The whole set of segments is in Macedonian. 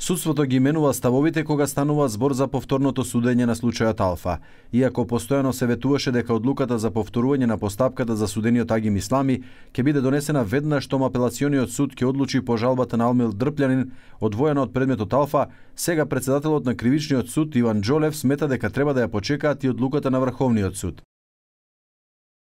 Судството ги менува ставовите кога станува збор за повторното судење на случајот Алфа. Иако постојано се ветуваше дека одлуката за повторување на постапката за судениот Агим Ислами ќе биде донесена веднаш штом апелациониот суд ќе одлучи по жалбата на Алмил Дрплјанин одвоена од предметот Алфа, сега председателот на Кривичниот суд Иван Џолев смета дека треба да ја почекаат и одлуката на Врховниот суд.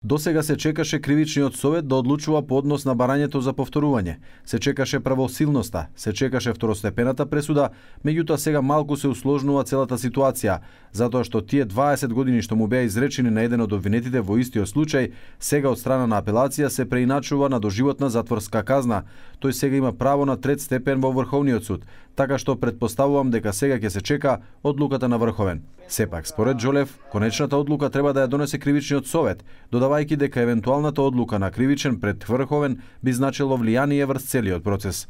Досега се чекаше Кривичниот совет да одлучува по однос на барањето за повторување. Се чекаше правосилноста, се чекаше второстепената пресуда, меѓутоа сега малку се усложнува целата ситуација, затоа што тие 20 години што му беа изречени на еден од обвинетите во истиот случај, сега од страна на апелација се преиначува на доживотна затворска казна. Тој сега има право на трет степен во Врховниот суд, така што предпоставувам дека сега ќе се чека одлуката на Врховен. Сепак, според Џолев, конечната одлука треба да ја донесе Кривичниот совет, додавајќи дека евентуалната одлука на Кривичен пред Врховен би значило влијание врз целиот процес.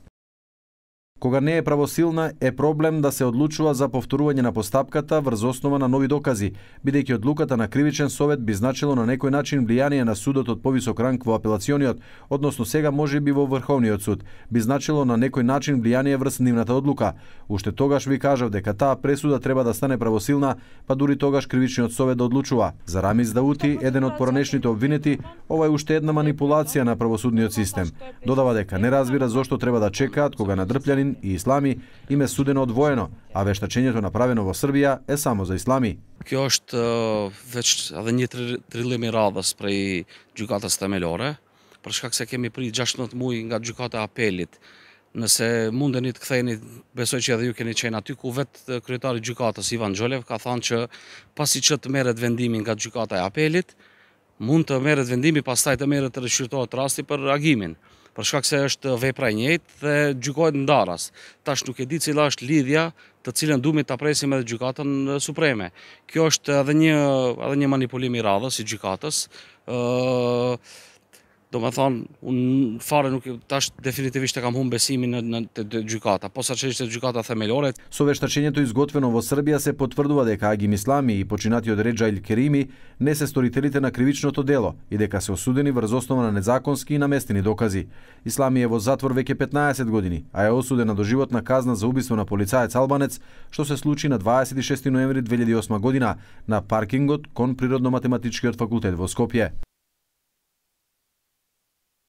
Кога не е правосилна, е проблем да се одлучува за повторување на постапката врз основа на нови докази, бидејќи одлуката на Кривичен совет би значило на некој начин влијание на судот од повисок ранг во апелациониот, односно сега можеби во Врховниот суд, би значило на некој начин влијание врз нивната одлука. Уште тогаш ви кажав дека таа пресуда треба да стане правосилна, па дури тогаш Кривичниот совет да одлучува. За Рамиз Даути, еден од поранешните обвинети, ова е уште една манипулација на правосудниот систем. Додава дека не разбира зошто треба да чекаат кога на Дрплјанин и Ислами им е судено одвоено, а вештачењето направено во Србија е само за Ислами. Kjo është veç edhe një trillim I radhës prej gjykatës themelore, për shkak se kemi prit 16 muaj nga gjykata e apelit. Nëse mundeni të ktheheni, besoj që edhe ju keni qenë aty, ku vetë kryetari I gjykatës Ivan Џолев ka thënë që pasi që të merret vendimi nga gjykata e apelit, mund të merret vendimi, pastaj të merret të rishqyrtohet rasti për agimin. Për shkak se është vepra e njëjtë dhe gjykohet ndaras. Tash nuk e di cila është lidhja të cilën duhemi ta presim edhe gjykatën supreme. Kjo është edhe një manipulim I radhës I gjykatës. Do me thonë, unë fare nuk tash definitivisht e kam humbë besimin në gjykata, posaçërisht te gjykata themelore. Со вештачењето изготвено во Србија се потврдува дека Агим Ислами и починатиот Реџа Ил Керими не се сторителите на кривичното дело и дека се осудени врз основа на незаконски и наместени докази. Ислами е во затвор веќе 15 години, а е осуден на доживотна казна за убиство на полицаец албанец, што се случи на 26 ноември 2008 година на паркингот кон Природно-математичкиот факултет во Скопје.